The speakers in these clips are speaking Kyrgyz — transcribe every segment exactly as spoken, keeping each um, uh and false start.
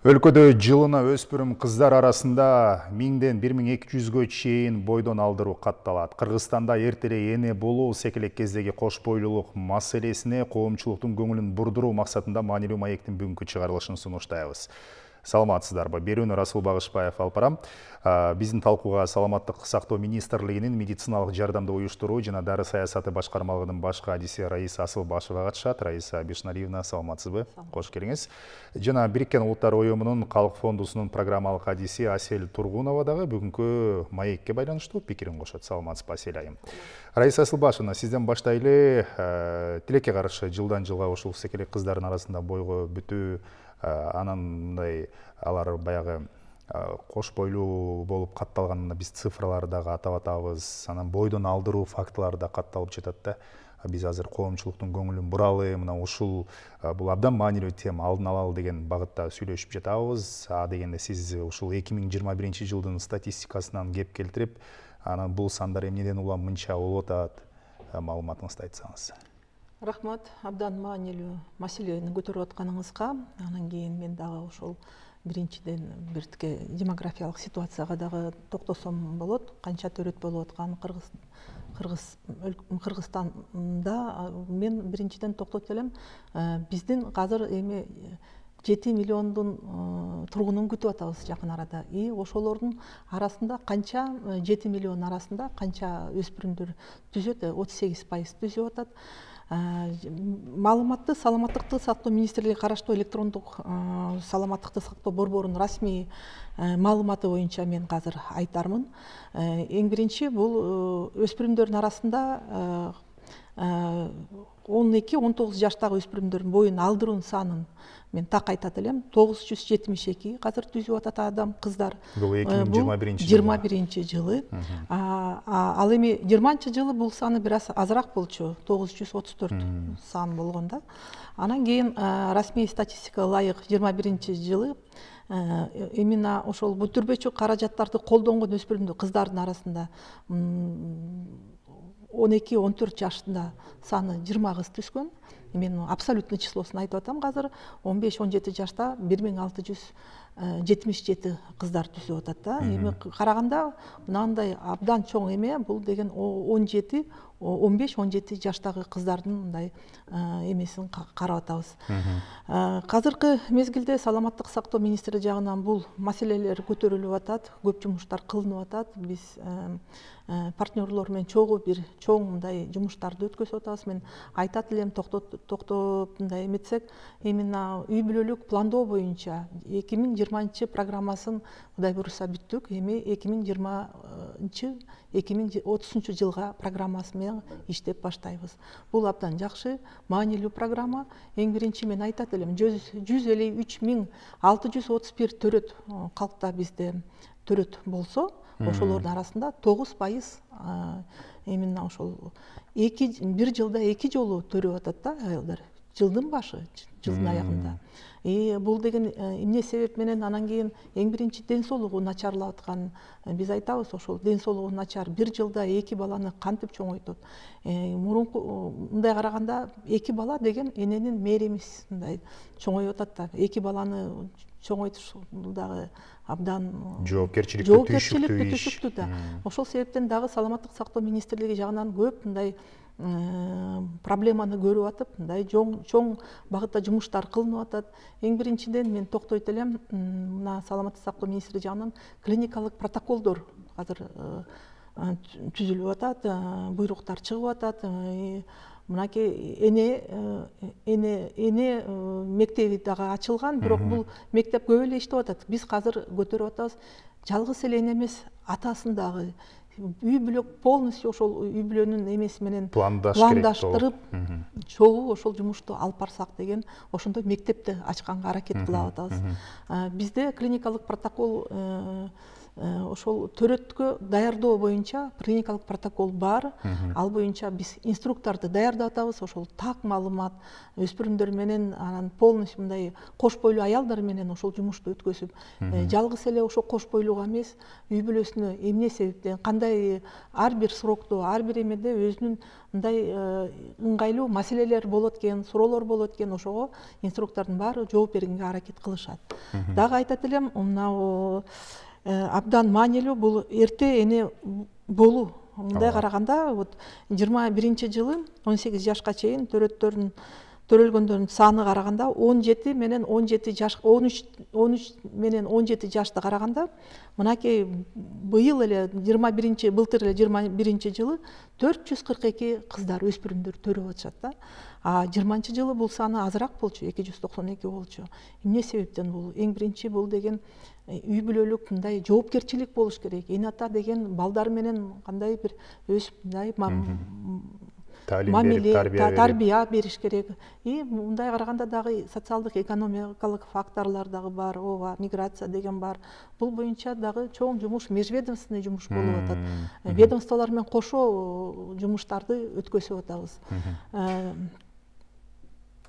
Өлкөдө жылына өспүрүм кыздар арасында миңден бир миң эки жүзгө чейин бойдон алдыруу катталат. Кыргызстанда эрте эле эне болуу секелек кездеги кош бойлуулук маселесине коомчулуктун көңүлүн бурдуруу максатында маанилүү маектин бүгүнкү чыгарылышын сунуштайбыз. Саламатсыздарбы? Берүүнү Расул Багышбаев алып барам. Биздин талкууга Саламаттык сактоо министрлигинин медициналык жардамды уюштуруу жана дары саясаты башкармалыгынын баш кадиси Раиса Асылбашева катышат. Раиса Бишнариевна, саламатсызбы? Кош келиңиз. Жана Бириккен Улуттар уюмунун Калк фондусунун программалык кадиси Асель Тургунова дагы бүгүнкү маекке байланыштуу пикирин кошот. Саламатсызбы, Асель айым? Раиса Асылбашевна, сизден баштайлы. Тилекке каршы жылдан жылга ушул секелек кыздардын арасында бойго бүтүү, анан мындай алар баягы кош бойлуу болуп катталганына биз цифрларды дагы атап атабыз. Анан бойдон алдыруу фактылары да катталып жатат да. Биз азыр коомчулуктун көңүлүн буралы, мына ушул бул абдан маанилүү тема, алдын алалы деген багытта сүйлөшүп жатабыз. А дегенде сиз ушул эки миң жыйырма биринчи жылдын статистикасынан кеп келтирип, анан бул сандар эмнеден улам мынча болуп атат, маалыматыңызды айтсаңыз. Рахмат, абдан маанилүү маселени көтөрүп атканыңызга. Анан кийин мен дагы ошол биринчиден биртке демографиялык ситуацияга дагы токтосом болот. Канча төрөт болуп аткан Кыргыз Кыргыз Кыргызстанда мен биринчиден токтотуп элем. Биздин азыр эми жети миллиондун тургунун күтүп атабыз жакын арада. И ошолордун арасында канча жети миллион арасында канча өспүрүмдөр түзөт, отуз сегиз пайыз түзүп атат. Маалыматты Саламаттыкты сактоо министрлиги караштуу электрондук саламаттыкты сактоо борборунун расмий маалыматы боюнча мен азыр айтармын. Эң биринчи бул өспүрүмдөрдүн арасында он эки он тогуз жаштагы өспүрүмдөрдүн бойун алдыруунун санын мен так айтат элем. тогуз жүз жетимиш эки азыр түзүп атат адам, кыздар. Бул эки миң жыйырма биринчи жылы. жыйырма биринчи жылы. Ал эми жыйырманчы жылы бул саны бир аз азыраак болчу, тогуз жүз отуз төрт сан болгон да. Анан кийин расмий статистикага ылайык жыйырма биринчи жылы именно ошол бүтүрбөчү каражаттарды колдонгон өспүрүмдөр кыздардын арасында он эки он төрт жашында саны жыйырма кыз түшкөн. Мен абсолютный числосун айтып атам азыр. он беш он жети жашта бир миң алты жүз жетимиш жети кыздар түзүп атат да. Эми караганда мынандай абдан чоң эме, бул деген он жети он беш он жети жаштагы кыздардын мындай эмесин карап атабыз. Азыркы мезгилде Саламаттык сактоо министри жагынан бул маселелер көтөрүлүп атат, көп жумуштар кылынып атат. Биз партнерлор менен чогуу бир чоң мындай жумуштарды өткөзүп атабыз. Мен айтат элем, токтоп мындай эметсек, именно үй бүлөлүк пландоо боюнча эки миң жыйырманчы программасын Кудай буйруса бүттүк. Эми эки миң жыйырманчы эки миң отузунчу жылга программасы менен иштеп баштайбыз. Бул абдан жакшы, маанилүү программа. Эң биринчи мен айтат элем, жүз элүү үч миң алты жүз отуз бир төрөт калкта бизде төрөт болсо, ошолордун арасында тогуз пайыз именно ошол бир жылда эки жолу төрөп атат да аялдар. Жылдын башы, жылдын аягында. И бул деген эмне себеп менен? Анан кийин эң биринчи ден соолугу начарлап аткан. Биз айтабыз, ошол ден соолугу начар бир жылда эки баланы кантип чоңойтот. Мурунку мындай караганда эки бала деген эненин мээримиз мындай чоңоюп атат да. Эки баланы чоңойтуш бул дагы абдан жоопкерчиликтүү түшүктүү да. Ошол себептен дагы Саламаттык сактоо министрлиги жагынан көп мындай проблеманы көрүп атып, мындай чоң багытта жумуштар кылынып атат. Эң биринчиден мен токтойт элем, мына Саламаттык сактоо министри жагынан клиникалык протоколдор азыр түзүлүп атат, буйруктар чыгып атат. Мынакей эне эне эне мектеби дагы ачылган, бирок бул мектеп көп эле иштеп атат. Биз азыр көтөрүп атабыз, жалгыз эле эне эмес, атасын дагы үй бүлө полностью ошол үй бүлөнүн эмеси менен пландаштырып, чогуу ошол жумушту алып барсак деген, ошондой мектепти ачканга аракет кылып атабыз. Бизде клиникалык протокол ошол төрөткө даярдоо боюнча клиникалык протокол бар. Ал боюнча биз инструкторду даярдап атабыз. Ошол так маалымат өспүрүмдөр менен анан полностью мындай кош бойлуу аялдар менен ошол жумушту өткөзүп, жалгыз эле ошол кош бойлууга эмес, үй бүлөсүнө эмне себептен, кандай ар бир срокто, ар бир эмеде өзүнүн мындай ыңгайлуу маселелер болот экен, суроолор болот экен, ошого инструктордун баары жооп бергенге аракет кылышат. Дагы айтат элем, мына абдан маанилүү бул эрте эне болуу. Мындай караганда, вот жыйырма биринчи жылы он сегиз жашка чейин төрөттөрдүн төрөлгөндөрдүн саны караганда он жети менен он жети жаш, он үч он үч менен он жети жашты караганда, мынакей быйыл эле жыйырма биринчи былтыр эле жыйырма биринчи жылы төрт жүз кырк эки кыздар, өспүрүмдөр төрөп атышат да. А жыйырманчы жылы бул саны азыраак болчу, эки жүз токсон эки болчу. Эмне себептен бул? Эң биринчи бул деген үй бүлөлүк мындай жоопкерчилик болуш керек. Эне ата деген балдар менен кандай бир өз мындай мамиле, тарбия бериш керек. И мындай караганда дагы социалдык, экономикалык факторлор дагы бар, ооба, миграция деген бар. Бул боюнча дагы чоң жумуш, межведомственный жумуш болуп атат. Ведомстволор менен кошо жумуштарды өткөзүп атабыз.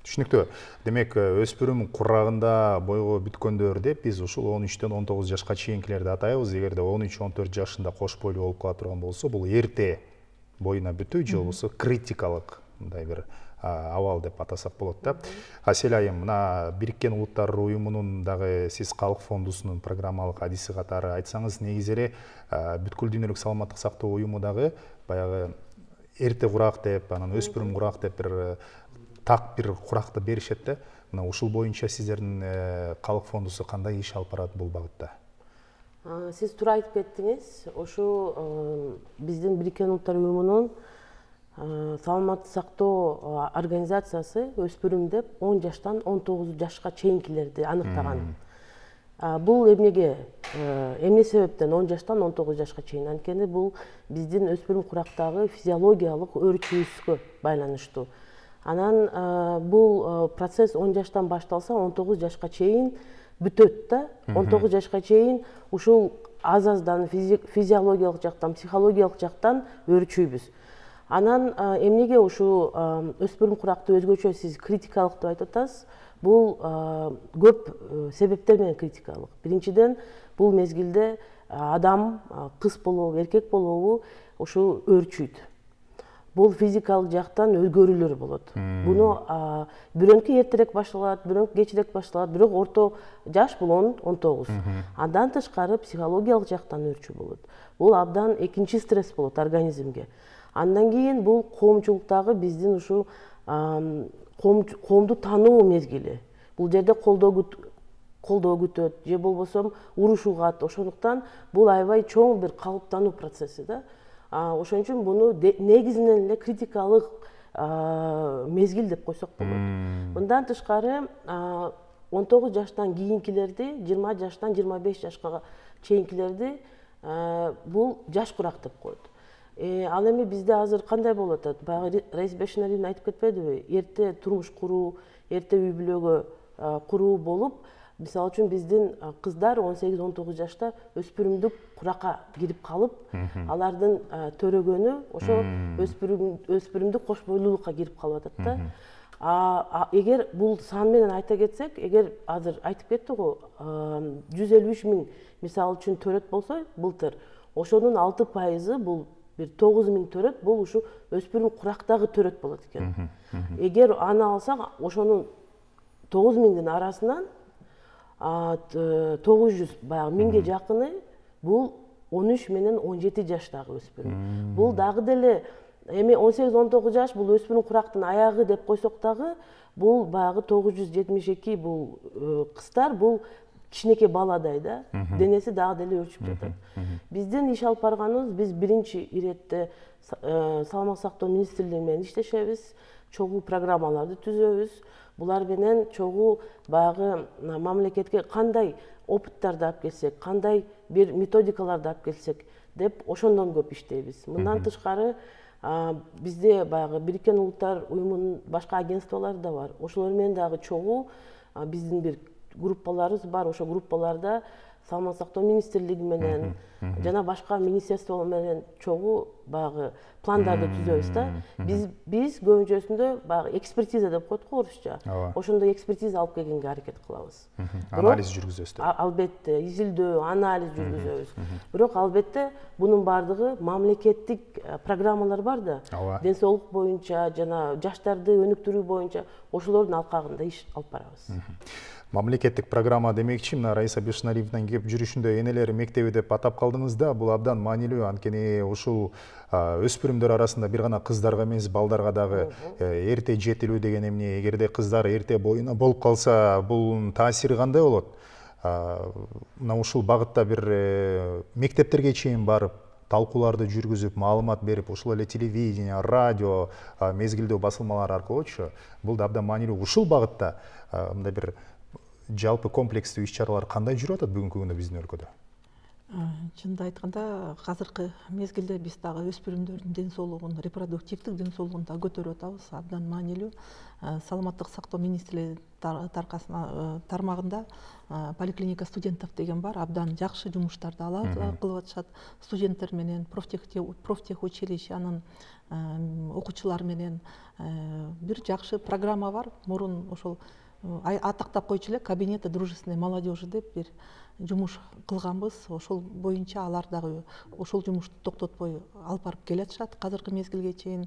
Түшүнүктүү. Демек, өспүрүм курагында бойго бүткөндөр деп биз ушул он үчтөн он тогуз жашка чейинкилерди атайбыз. Эгерде он үч он төрт жашында кош бойлуу болуп кала турган болсо, бул эрте боюна бүтүү же болбосо критикалык мындай бир абал деп атасак болот да. Асель айым, мына Бириккен Улуттар уюмунун дагы сиз калк фондусунун программалык адиси катары айтсаңыз, негизи эле бүткүл дүйнөлүк саламаттык сактоо уюму дагы баягы эрте курак деп, анан өспүрүм курак деп бир так бир куракты беришет да. Мына ушул боюнча сиздердин калк фондусу кандай иш алып барат бул багытта? Сиз туура айтып кеттиңиз. Ошо биздин Бириккен Улуттар уюмунун саламаттык сактоо организациясы өспүрүм деп он жаштан он тогуз жашка чейинкилерди аныктаган. Бул эмнеге, эмне себептен он жаштан он тогуз жашка чейин? Анткени бул биздин өспүрүм курактагы физиологиялык өөрчүүбүзгө байланыштуу. Анан бул процесс он жаштан башталса, он тогуз жашка чейин бүтөт да. он тогуз жашка чейин ушул аз-аздан физиологиялык жактан, психологиялык жактан өөрчүйбүз. Анан эмнеге ушул өспүрүм куракты өзгөчө сиз критикалык деп айтып атасыз? Бул көп себептер менен критикалык. Биринчиден, бул мезгилде адам кыз болобу, эркек болобу ушул өөрчүйт. Бул физикалык жактан өзгөрүүлөр болот. Буну бирөөнкү эртерээк башталат, бирөөнкү кечирээк башталат, бирок орто жаш бул он он тогуз. Андан тышкары психологиялык жактан өөрчүү болот. Бул абдан экинчи стресс болот организмге. Андан кийин бул коомчулуктагы биздин ушул коомду тануу мезгили. Бул жерде колдоо колдоо күтөт, же болбосо уруш угат. Ошондуктан бул аябай чоң бир калыптануу процесси да. Ошон үчүн буну негизинен эле критикалык мезгил деп койсок болот. Мындан тышкары он тогуз жаштан кийинкилерди, жыйырма жаштан жыйырма беш жашка чейинкилерди бул жаш курак деп коет. Ал эми бизде азыр кандай болуп атат? Баягы Раиса Бешеналиевна айтып кетпедиби? Эрте турмуш куруу, эрте үй бүлөгө куруу болуп, мисалы үчүн биздин кыздар он сегиз он тогуз жашта өспүрүмдүк куракка кирип калып, алардын төрөгөнү ошо өспүрүмдүк кош бойлуулукка кирип калып атат да. Эгер бул сан менен айта кетсек, эгер азыр айтып кетти го, жүз элүү үч миң мисалы үчүн төрөт болсо былтыр, ошонун алты пайызы бул бир тогуз миң төрөт бул ушу өспүрүм курактагы төрөт болот экен. Эгер аны алсак, ошонун тогуз миңдин арасынан тогуз жүз баягы миңге жакыны бул он үч менен он жети жаштагы өспүрүм. Бул дагы деле эми он сегиз он тогуз жаш бул өспүрүм курактын аягы деп койсок дагы, бул баягы тогуз жүз жетимиш эки бул кыздар бул кичинекей баладай да, денеси дагы деле өөрчүп жатат. Биздин иш алып барганыбыз, биз биринчи иретте саламаттык сактоо министрлиги менен иштешебиз, чогуу программаларды түзөбүз. Булар менен чогуу баягы мамлекетке кандай опыттарды алып келсек, кандай бир методикаларды алып келсек деп ошондон көп иштейбиз. Мындан тышкары бизде баягы Бириккен Улуттар уюмунун башка агентстволору да бар. Ошолор менен дагы чогуу биздин бир группаларыбыз бар. Ошо группаларда саламаттык сактоо министрлиги менен жана башка министерство менен чогуу баягы пландарды түзөбүз да. Биз биз көбүнчөсүндө баягы экспертиза деп коет го орусча. Ошондой экспертиза алып келгенге аракет кылабыз. Анализ жүргүзөсүз. Албетте, изилдөө, анализ жүргүзөбүз. Бирок албетте бунун баардыгы мамлекеттик программалар бар да. Ден соолук боюнча жана жаштарды өнүктүрүү боюнча ошолордун алкагында иш алып барабыз. Мамлекеттик программа демекчи, мына Раиса Бешнариевдин кеп жүрүшүндө энелер мектеби деп атап калдыңыз да, бул абдан маанилүү. Анткени ушул өспүрүмдөр арасында бир гана кыздарга эмес, балдарга дагы эрте жетилүү деген эмне, эгерде кыздар эрте боюна болуп калса, бул таасири кандай болот? Мына ушул багытта бир мектептерге чейин барып, талкууларды жүргүзүп, маалымат берип, ошол эле телевидение, радио, мезгилдүү басылмалар аркылуучу, бул да абдан маанилүү. Ушул багытта мындай бир жалпы комплекстүү иш-чаралар кандай жүрүп атат бүгүнкү күндө биздин өлкөдө? Чынымды айтканда, азыркы мезгилде биз дагы өспүрүмдөрдүн ден соолугун, репродуктивдик ден соолугун да көтөрүп атабыз. Абдан маанилүү. Саламаттык сактоо министрлиги тармагында поликлиника студентов деген бар. Абдан жакшы жумуштарды кылып атышат. Студенттер менен профтех училищенин окуучулары менен бир жакшы программа бар. Мурун ошол атактап койчу эле кабинеты дружественной молодежи деп бир жумуш кылганбыз. Ошол боюнча алар дагы ошол жумушту токтотпой алып барып келатышат азыркы мезгилге чейин.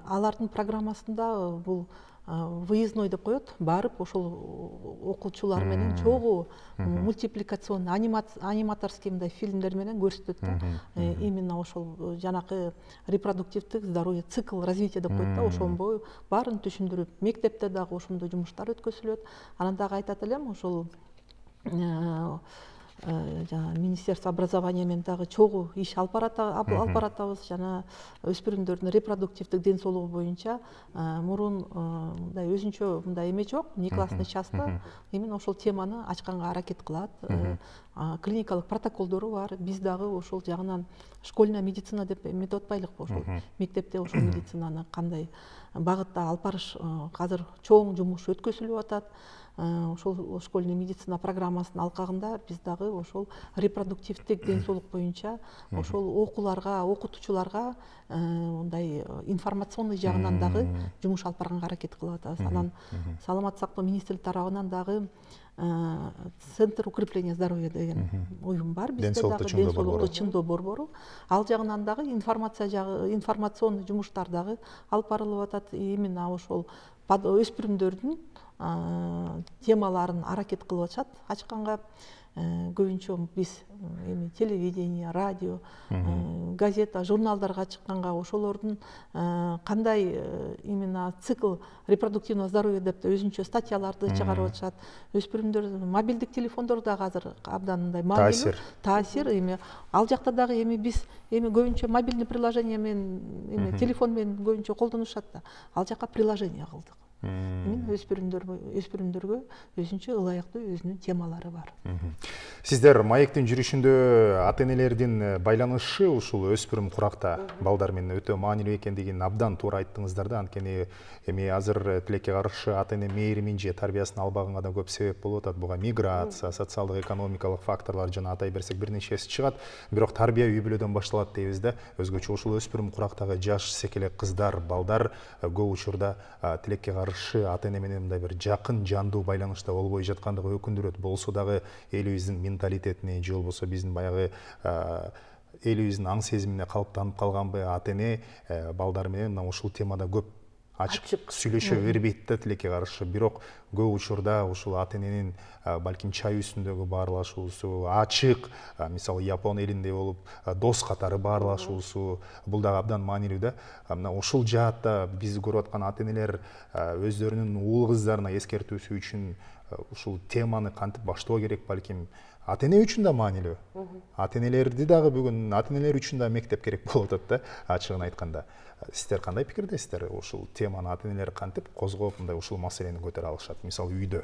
Алардын программасында бул выездной деп коет, барып ошол окуучулар менен чогуу мультипликационный аниматорский мындай фильмдер менен көрсөтөт да. Именно ошол жанакы репродуктивдик здоровье цикл развития деп коет да, ошонбой баарын түшүндүрүп, мектепте дагы ошондой жумуштар өткөзүлөт. Анан дагы айтат элем, ошол Министерство образования менен дагы чогуу иш алып баратабыз. Жана өспүрүмдөрдүн репродуктивдик ден соолугу боюнча мурун мындай өзүнчө мындай эме жок, неклассный частта именно ошол теманы ачканга аракет кылат. Клиникалык протоколдору бар. Биз дагы ошол жагынан школьная медицина деп эметип атпайлыкпы, ошол мектепте ошол медицинаны кандай багытта алып барыш азыр чоң жумуш өткөзүлүп атат. Ошол школьный медицина программасынын алкагында биз дагы ошол репродуктивдик ден соолук боюнча ошол окууларга, окутуучуларга мындай информационный жагынан дагы жумуш алып барганга аракет кылып атабыз. Анан саламаттык сактоо министрлиги тарабынан дагы Центр укрепления здоровья деген уюм бар бизде дагы, ден соолукту чыңдоо борбору. Ал жагынан дагы информация жагы, информационный жумуштар дагы алып барылып атат. Именно ошол өспүрүмдөрдүн темаларын аракет кылып атышат ачканга. Көбүнчө биз эми телевидение, радио, газета, журналдарга чыкканга ошолордун кандай именно цикл репродуктивного здоровья деп өзүнчө статьяларды чыгарып атышат. Өспүрүмдөр мобилдик телефондор дагы азыр абдан мындай маанилүү таасир. Эми ал жакта дагы эми биз эми көбүнчө мобильный приложение менен эми телефон менен көбүнчө колдонушат да. Ал жака приложение кылдык. Өспүрүмдөргө өзүнчө ылайыктуу өзүнүн темалары бар. Сиздер маектин жүрүшүндө ата-энелердин байланышы ушул өспүрүм куракта балдар менен өтө маанилүү экендигин абдан туура айттыңыздар да. Анткени эми азыр тилекке каршы ата-эне мээримин же тарбиясын албаганга да көп себеп болуп атат. Буга миграция, социалдык экономикалык факторлор жана атай берсек бир нечеси чыгат. Бирок тарбия үй бүлөдөн башталат дейбиз да. Өзгөчө ушул өспүрүм курактагы жаш секелек кыздар, балдар көп учурда тилекке каршы ата-эне менен мындай бир жакын жандуу байланышта болбой жаткандыгы өкүндүрөт. Болсо дагы элибиздин менталитетине же болбосо биздин баягы элибиздин аң сезимине калыптанып калганбы, ата-эне балдар менен мына ушул темада көп ачык сүйлөшө бербейт да тилекке каршы. Бирок көп учурда ушул ата-эненин балким чай үстүндөгү баарлашуусу, ачык, мисалы Япон элинде болуп дос катары баарлашуусу, бул дагы абдан маанилүү да. Мына ушул жаатта биз көрүп аткан ата-энелер өздөрүнүн уул кыздарына эскертүүсү үчүн ушул теманы кантип баштоо керек, балким ата-эне үчүн да маанилүү. Ата-энелерди дагы бүгүн ата-энелер үчүн да мектеп керек болуп атат да, ачыгын айтканда. Сиздер кандай пикирдесиздер? Ушул теманы ата-энелер кантип козгоп, мындай ушул маселени көтөрө алышат, мисалы үйдө?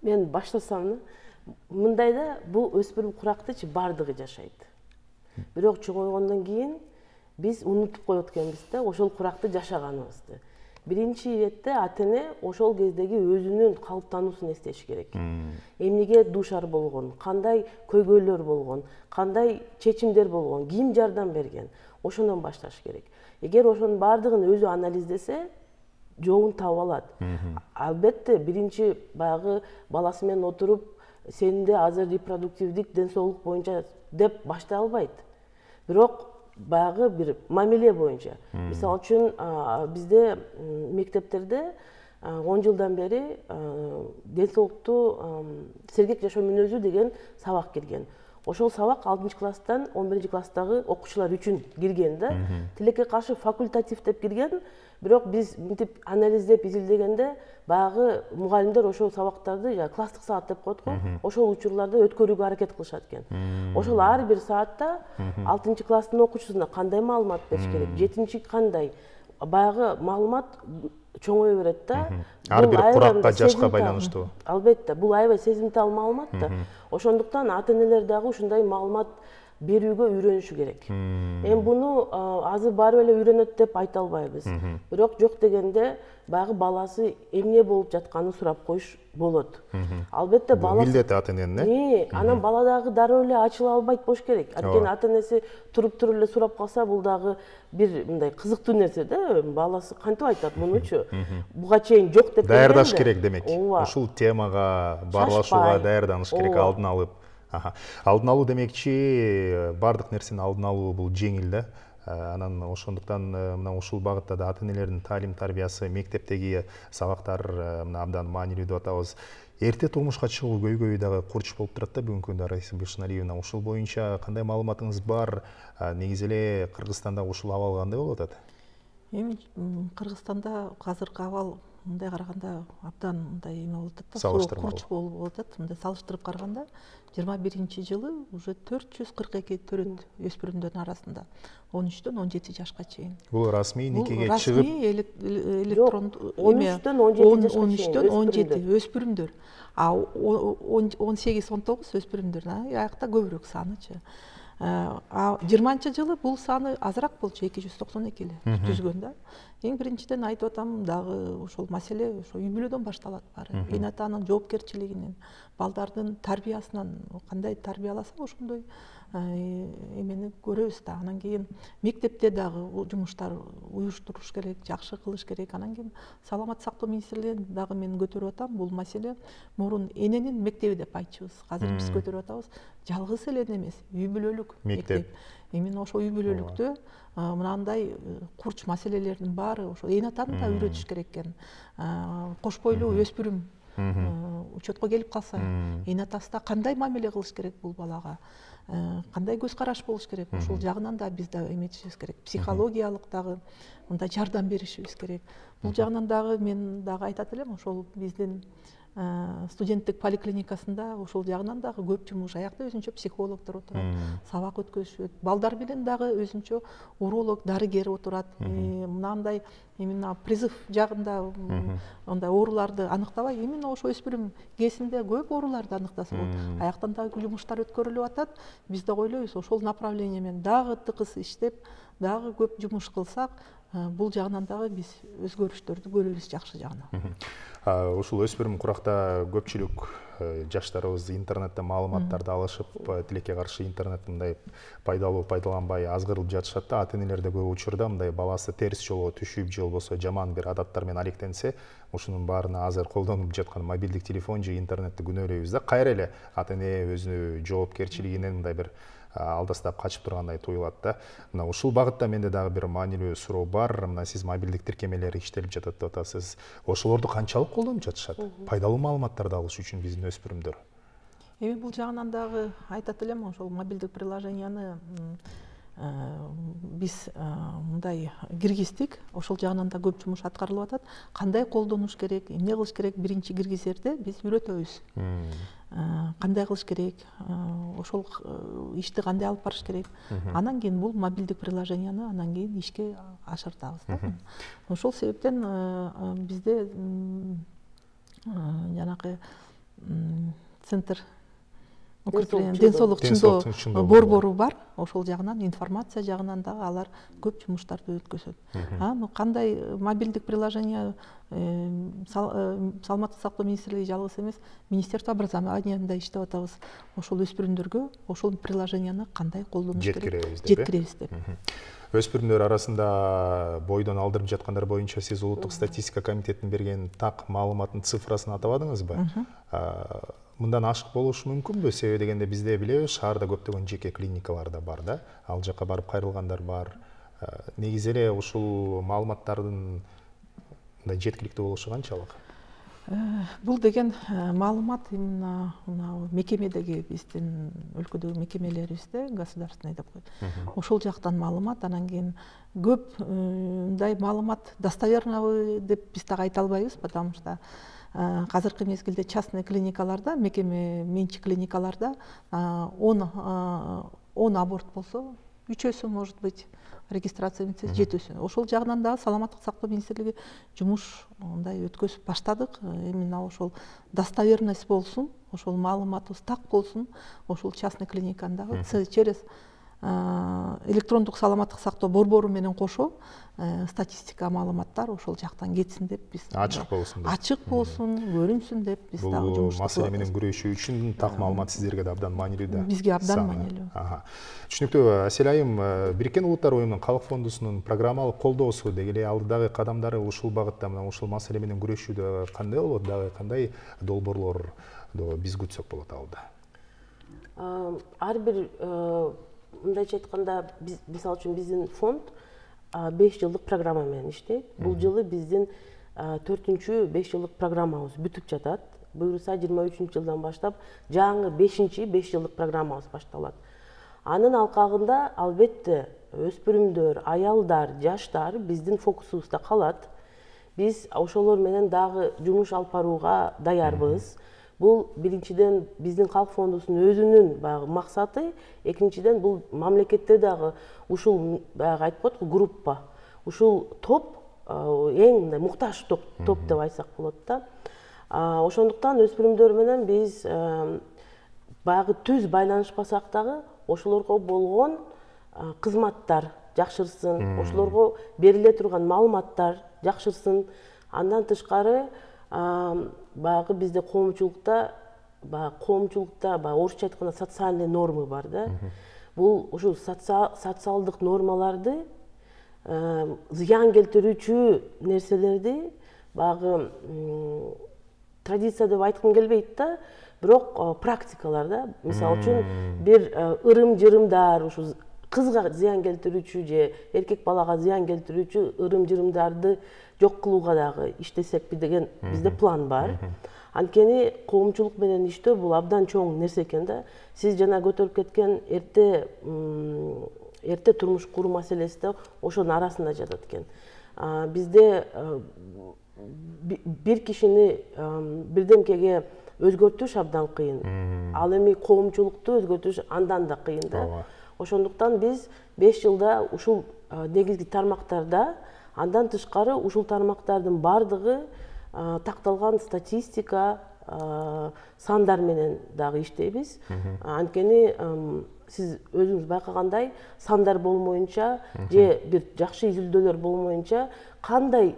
Мен баштасам, мындайда бул өспүрүм курактычы бардыгы жашайт. Бирок чоңойгондон кийин биз унутуп коет экенбиз да ошол куракты жашаганыбызды. биринчи иретте ата эне ошол кездеги өзүнүн калыптануусун эстеши керек. Эмнеге дуушар болгон, кандай көйгөйлөр болгон, кандай чечимдер болгон, ким жардам берген, ошондон башташ керек. Эгер ошонун баардыгын өзү анализдесе, жообун таап алат. Албетте биринчи баягы баласы менен отуруп, сенде азыр репродуктивдик ден соолук боюнча деп баштай албайт. Бирок баягы бир мамиле боюнча. Мисалы үчүн бизде мектептерде он жылдан бери ден соолукту сергек жашоо мүнөзү деген сабак кирген. Ошол сабак алтынчы класстан он биринчи класстагы окуучулар үчүн кирген да. Тилекке каршы факультатив деп кирген. Бирок биз мынтип анализдеп изилдегенде баягы мугалимдер ошол сабактарды класстык саат деп коет го, ошол учурларда өткөрүүгө аракет кылышат экен. Ошол ар бир саатта алтынчы класстын окуучусуна кандай маалымат бериш керек, жетинчи кандай баягы маалымат чоңое берет да. Ар бир куракка, жашка байланыштуу. Албетте, бул аябай сезимтал маалымат да. Ошондуктан ата энелер дагы ушундай маалымат берүүгө үйрөнүшү керек. Эми буну азыр баары эле үйрөнөт деп айта албайбыз. Бирок жок дегенде баягы баласы эмне болуп жатканын сурап коюш болот. Албетте баласы милдети ата эненин. Анан бала дагы дароо эле ачыла албайт болуш керек. Анткени ата энеси туруп туруп эле сурап калса, бул дагы бир мындай кызыктуу нерсе да. Баласы кантип айтат мунучу? Буга чейин жок деп даярдаш керек демек. Ушул темага баарлашууга даярданыш керек алдын алып. Алдын алуу демекчи бардык нерсени алдын алуу бул жеңил да. Анан ошондуктан мына ушул багытта да ата энелердин таалим тарбиясы, мектептеги сабактар мына абдан маанилүү деп атабыз. Эрте турмушка чыгуу көйгөйү дагы курч болуп турат да бүгүнкү күндө. Раиса Бишналиевна, ушул боюнча кандай маалыматыңыз бар? Негизи эле Кыргызстанда ушул абал кандай болуп атат? Эми Кыргызстанда азыркы абал мындай караганда абдан мындай эме болуп атат да, салыштырмалуу курч болуп атат. Мындай салыштырып караганда жыйырма биринчи жылы уже төрт жүз кырк эки төрөт өспүрүмдөрдүн арасында он үчтөн он жети жашка чейин. Бул расмий никеге чыгып, расмий электрондуу он үчтөн он жети жашка чейин. он үчтөн он жети өспүрүмдөр. А он сегиз он тогуз өспүрүмдөр. Аякта көбүрөөк санычы. А жыйырманчы жылы бул саны азыраак болчу, эки жүз токсон эки эле түзгөн да. Эң биринчиден айтып атам, дагы ошол маселе ошо үй бүлөдөн башталат баары. Эне атанын жоопкерчилигинен, балдардын тарбиясынан, кандай тарбияласа ошондой эмени көрөбүз да. Анан кийин мектепте дагы жумуштар уюштуруш керек, жакшы кылыш керек. Анан кийин саламаттык сактоо министрлигинен дагы мен көтөрүп атам, бул маселе мурун эненин мектеби деп айтчубуз. Азыр биз көтөрүп атабыз. Жалгыз эле эне эмес, үй бүлөлүк мектеп. Именно ошо үй бүлөлүктө мынандай курч маселелердин баары ошо эне атаны да үйрөтүш керек экен. Кош бойлуу өспүрүм учетко келип калса, эне атасы да кандай мамиле кылыш керек бул балага, кандай көз караш болуш керек, ошол жагынан да биз да эметишибиз керек. Психологиялык дагы мындай жардам беришибиз керек. Бул жагынан дагы мен дагы айтат элем, ошол биздин студенттик поликлиникасында ошол жагынан дагы көп жумуш. Аякта өзүнчө психологдор отурат, сабак өткөзүшөт. Балдар менен дагы өзүнчө уролог, дарыгер отурат. Мынандай именно призыв жагында ондай ооруларды аныктабай, именно ошо өспүрүм кезинде көп ооруларды аныктаса болот. Аяктан дагы жумуштар өткөрүлүп атат. Биз да ойлойбуз, ошол направление менен дагы тыкыз иштеп, дагы көп жумуш кылсак, бул жагынан дагы биз өзгөрүштөрдү көрөбүз жакшы жагынан. Ушул өспүрүм куракта көпчүлүк жаштарыбыз интернетте маалыматтарды алышып, тилекке каршы интернет мындай пайдалуу пайдаланбай азгырылып жатышат да. Ата энелер да көп учурда мындай баласы терс жолго түшүп же болбосо жаман бир адаттар менен алектенсе, ушунун баарына азыр колдонуп жаткан мобилдик телефон же интернетти күнөөлөйбүз да. Кайра эле ата эне өзүнүн жоопкерчилигинен мындай бир алдастап качып тургандай туюлат да. Мына ушул багытта менде дагы бир маанилүү суроо бар. Мына сиз мобилдик тиркемелер иштелип жатат деп атасыз. Ошолорду канчалык колдонуп жатышат? Пайдалуу маалыматтарды алыш үчүн биздин өспүрүмдөр. Эми бул жагынан дагы айтат элем, ошол мобилдик приложенияны биз мындай киргиздик. Ошол жагынан да көп жумуш аткарылып атат. Кандай колдонуш керек, эмне кылыш керек биринчи киргизерде биз үйрөтөбүз. Кандай кылыш керек, ошол ишти кандай алып барыш керек. Анан кийин бул мобилдик приложенияны анан кийин ишке ашыртабыз да. Ошол себептен бизде жанагы центр ден соолук чындоо борбору бар, ошол жагынан информация жагынан дагы алар көп жумуштарды өткөзөт. Аны кандай мобилдик приложение саламаттык сактоо министрлиги жалгыз эмес, министерство образованияда иштеп атабыз. Ошол өспүрүмдөргө ошол приложенияны кандай колдонуш керек жеткиребиз деп. Өспүрүмдөр арасында бойдон алдырып жаткандар боюнча сиз улуттук статистика комитетинин берген так маалыматтын цифрасын атабадыңызбы? Мындан ашык болушу мүмкүнбү? Себеби дегенде бизде билебиз, шаарда көптөгөн жеке клиникалар да бар да, ал жака барып кайрылгандар бар. Негизи эле ушул маалыматтардын мындай жеткиликтүү болушу канчалык? Бул деген маалымат именно мекемедеги биздин өлкөдөгү мекемелерибизде государственный деп коет. Ошол жактан маалымат, анан кийин көп мындай маалымат достоверный деп биз так айта албайбыз, потому что азыркы мезгилде частный клиникаларда, мекеме менчик клиникаларда он аборт болсо, үчөөсү может быть регистрация этсе жетүүсү. Ошол жагынан дагы саламаттык сактоо министрлиги жумуш мындай өткөзүп баштадык. Именно ошол достоверность болсун, ошол маалыматыбыз так болсун, ошол частный клиниканы дагы через электрондук саламаттык сактоо борбору менен кошо статистика маалыматтар ошол жактан кетсин деп биз ачык болсун деп ачык болсун, көрүнсүн деп биз дагы жумуш бул маселе менен күрөшүү үчүн так маалымат сиздерге да абдан маанилүү да. Бизге абдан маанилүү. Түшүнүктүү. Асель айым, Бириккен Улуттар уюмунун Калк фондусунун программалык колдоосу деги эле алдыдагы кадамдары ушул багытта, мына ушул маселе менен күрөшүүдө кандай болот, дагы кандай долбоорлор биз күтсөк болот алда? Ар бир мындайча айтканда, мисалы үчүн биздин фонд беш жылдык программа менен иштейт. Бул жылы биздин төртүнчү беш жылдык программабыз бүтүп жатат. Буюрса жыйырма үчүнчү жылдан баштап жаңы бешинчи беш жылдык программабыз башталат. Анын алкагында албетте өспүрүмдөр, аялдар, жаштар биздин фокусубузда калат. Биз ошолор менен дагы жумуш алып барууга даярбыз. Бул биринчиден биздин Калк фондусунун өзүнүн баягы максаты, экинчиден бул мамлекетте дагы ушул баягы айтып коет го группа, ушул топ эң мындай муктаж топ деп айтсак болот да. Ошондуктан өспүрүмдөр менен биз баягы түз байланышпасак дагы ошолорго болгон кызматтар жакшырсын, ошолорго бериле турган маалыматтар жакшырсын. Андан тышкары баягы бизде коомчулукта баягы коомчулукта баягы орусча айтканда социальный нормы бар да. Бул ушул социалдык нормаларды зыян келтирүүчү нерселерди баягы традиция деп айткым келбейт да, бирок практикалар да. Мисалы үчүн бир ырым-жырымдар, ушу кызга зыян келтирүүчү же эркек балага зыян келтирүүчү ырым-жырымдарды жок кылууга дагы иштесек деген бизде план бар. Анткени коомчулук менен иштөө бул абдан чоң нерсе экен да. Сиз жана көтөрүп кеткен эрте эрте турмуш куруу маселеси да ошонун арасында жатат экен. Бизде бир кишини бирдемкеге өзгөртүш абдан кыйын. Ал эми коомчулукту өзгөртүш андан да кыйын да. Ошондуктан биз беш жылда ушул негизги тармактарда, андан тышкары ушул тармактардын бардыгы такталган статистика, сандар менен дагы иштейбиз. Анткени сиз өзүңүз байкагандай, сандар болмоюнча же бир жакшы изилдөөлөр болмоюнча кандай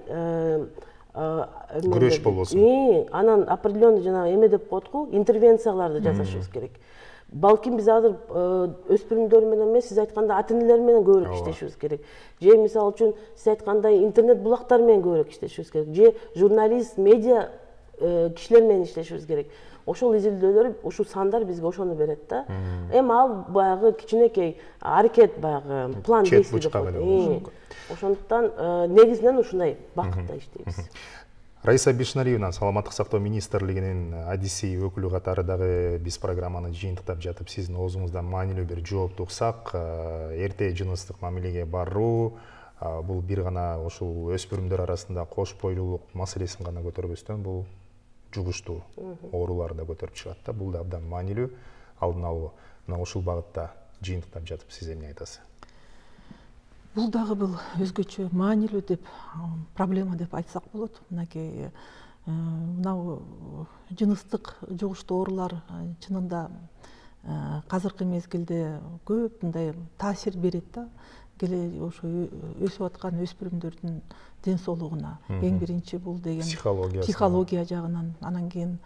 күрөш болбосун. Анан определенный жана эме деп коет го, интервенцияларды жасашыбыз керек. Балким биз азыр өспүрүмдөр менен эмес, сиз айтканда ата-энелер менен көбүрөөк иштешибиз керек. Же мисалы үчүн сиз айткандай интернет булактар менен көбүрөөк иштешибиз керек. Же журналист, медиа кишилер менен иштешибиз керек. Ошол изилдөөлөр, ушул сандар бизге ошону берет да. Эми ал баягы кичинекей аракет, баягы план действий деп коет. Ошондуктан негизинен ушундай бакытта иштейбиз. Раиса Бишнариевна, саламаттык сактоо министрлигинин адиси өкүлү катары дагы биз программаны жыйынтыктап жатып, сиздин оозуңуздан маанилүү бир жоопту уксак, эрте жыныстык мамилеге баруу, бул бир гана ушул өспүрүмдөр арасында кош бойлуулук маселесин гана көтөрбөстөн, бул жугуштуу ооруларды да көтөрүп чыгат да. Бул да абдан маанилүү алдын алуу. Мына ушул багытта жыйынтыктап жатып, сиз эмне айтасыз? Бул дагы бул өзгөчө маанилүү деп проблема деп айтсак болот. Мынакей мынау жыныстык жугуштуу оорулар чынында азыркы мезгилде көп мындай таасир берет да, келе ошо өсүп аткан өспүрүмдөрдүн ден соолугуна. Эң биринчи бул деген психология жагынан, анан кийин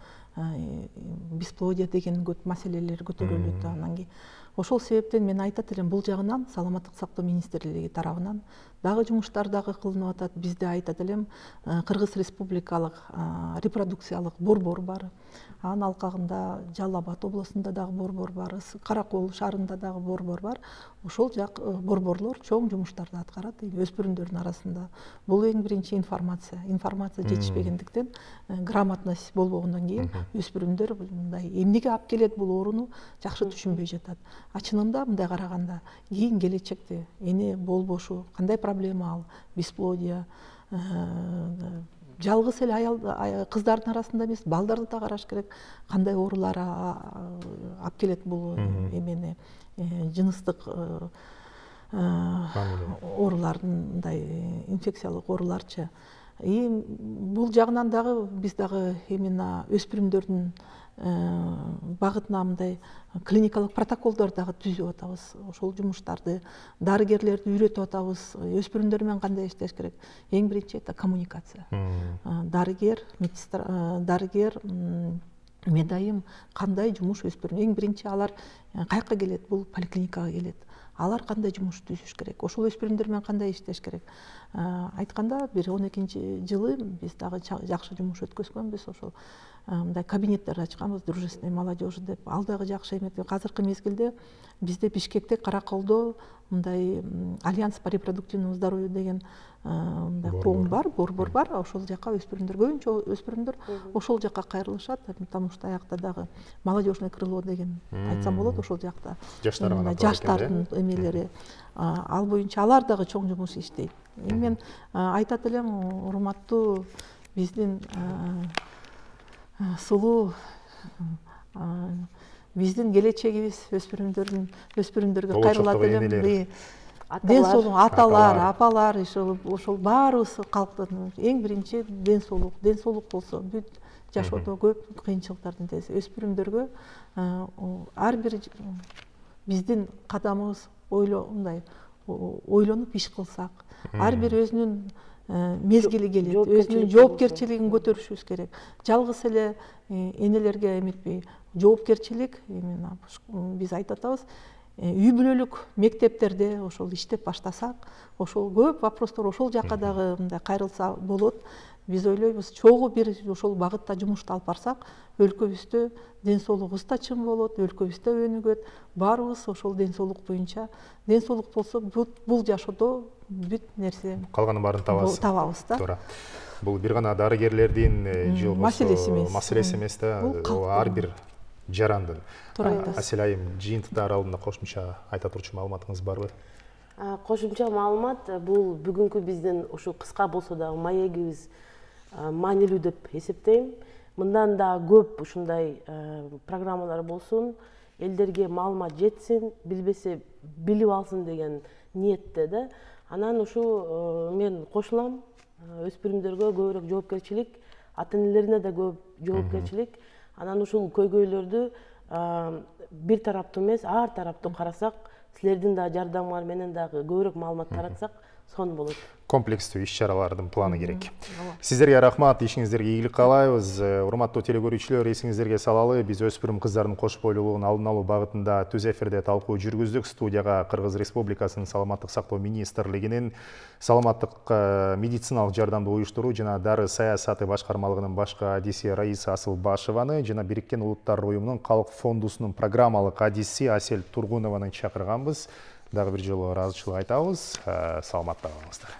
бесплодие деген көп маселелер көтөрүлөт. Анан кийин ошол себептен мен айтат элем, бул жагынан саламаттык сактоо министрлиги тарабынан дагы жумуштар дагы кылынып атат. Бизде айтат элем, Кыргыз Республикалык репродукциялык борбор бар. Анын алкагында Жалал Абад областунда дагы борбор бар, Каракол шаарында дагы борбор бар. Ошол жак борборлор чоң жумуштарды аткарат өспүрүмдөрдүн арасында. Бул эң биринчи информация. Информация жетишпегендиктен, грамотность болбогондон кийин өспүрүмдөр мындай эмнеге алып келет бул ооруну жакшы түшүнбөй жатат. А чынында мындай караганда кийин келечекте эне болбошу кандай проблема ал, бесплодие, жалгыз эле аял кыздардын арасында эмес, балдарды да караш керек. Кандай оорулар алып келет бул эмени, жыныстык оорулардын, мындай инфекциялык ооруларчы. И бул жагынан дагы биз дагы именно өспүрүмдөрдүн багытына мындай клиникалык протоколдор дагы түзүп атабыз. Ошол жумуштарды дарыгерлерди үйрөтүп атабыз. Өспүрүмдөр менен кандай иштеш керек? Эң биринчи это коммуникация. Дарыгер, медсестра, дарыгер, медайым кандай жумуш өспүрүм. Эң биринчи алар каяка келет? Бул поликлиникага келет. Алар кандай жумуш түзүш керек? Ошол өспүрүмдөр менен кандай иштеш керек? Айтканда бир он экинчи жылы биз дагы жакшы жумуш өткөзгөнбүз. Ошол мындай кабинеттер ачканбыз, дружественной молодежи деп. Ал дагы жакшы эмет. Азыркы мезгилде бизде Бишкекте, Караколдо мындай Альянс по репродуктивному здоровью деген мындай коом бар, борбор бар. Ошол жака өспүрүмдөр, көбүнчө өспүрүмдөр ошол жака кайрылышат, потому что аякта дагы молодежное крыло деген айтсам болот. Ошол жакта жаштардын эмелери, ал боюнча алар дагы чоң жумуш иштейт. Мен айтат элем, урматтуу биздин сулуу, биздин келечегибиз өспүрүмдөрдүн өспүрүмдөргө кайрылат элем. Ден соолук, аталар, апалар, ошол баарыбыз калктын эң биринчи ден соолук. Ден соолук болсо бүт жашоодо көп кыйынчылыктардын теси. Өспүрүмдөргө ар бир биздин кадамыбыз ойлонуп, ойлонуп иш кылсак, ар бир өзүнүн мезгили келет, өзүнүн жоопкерчилигин көтөрүшүбүз керек. Жалгыз эле энелерге эметпей, жоопкерчилик, биз айтып атабыз, үй бүлөлүк мектептерде ошол иштеп баштасак, ошол көп вопростор ошол жака дагы мындай кайрылса болот. Биз ойлойбуз, чогуу бир ошол багытта жумушту алып барсак, өлкөбүздө ден соолугубуз да чың болот, өлкөбүздө өнүгөт. Баарыбыз ошол ден соолук боюнча, ден соолук болсо бул жашоодо бүт нерсе калганын баарын табабыз. Табабыз да. Туура. Бул бир гана дарыгерлердин же маселеси эмес. Маселеси эмес да, ар бир жарандын. Туура айтасыз. Асель айым, жыйынтыктар алдында кошумча айта турчу маалыматыңыз барбы? Кошумча маалымат, бул бүгүнкү биздин ушу кыска болсо дагы маегибиз маанилүү деп эсептейм. Мындан да көп ушундай программалар болсун, элдерге маалымат жетсин, билбесе билип алсын деген ниетте да. Анан ушу мен кошулам, өспүрүмдөргө көбүрөөк жоопкерчилик, ата-энелерине да көп жоопкерчилик. Анан ушул көйгөйлөрдү бир тараптуу эмес, ар тараптуу карасак, силердин да жардамыңар менен дагы көбүрөөк маалымат таратсак, сонун болот. Комплекстүү иш-чаралардын планы керек. Сиздерге рахмат, ишиңиздерге ийгилик каалайбыз. Урматтуу телекөрүүчүлөр, эсиңиздерге салалы, биз өспүрүм кыздардын кош бойлуулугун алдын алуу багытында түз эфирде талкуу жүргүздүк. Студияга Кыргыз Республикасынын Саламаттык сактоо министрлигинин саламаттык медициналык жардамды уюштуруу жана дары саясаты башкармалыгынын башкы адиси Раиса Асылбашеваны жана Бириккен Улуттар уюмунун Калк фондусунун программалык адиси Асель Тургунованы чакырганбыз. Дагы бир жолу ыраазычылык айтабыз. Саламатта калыңыздар.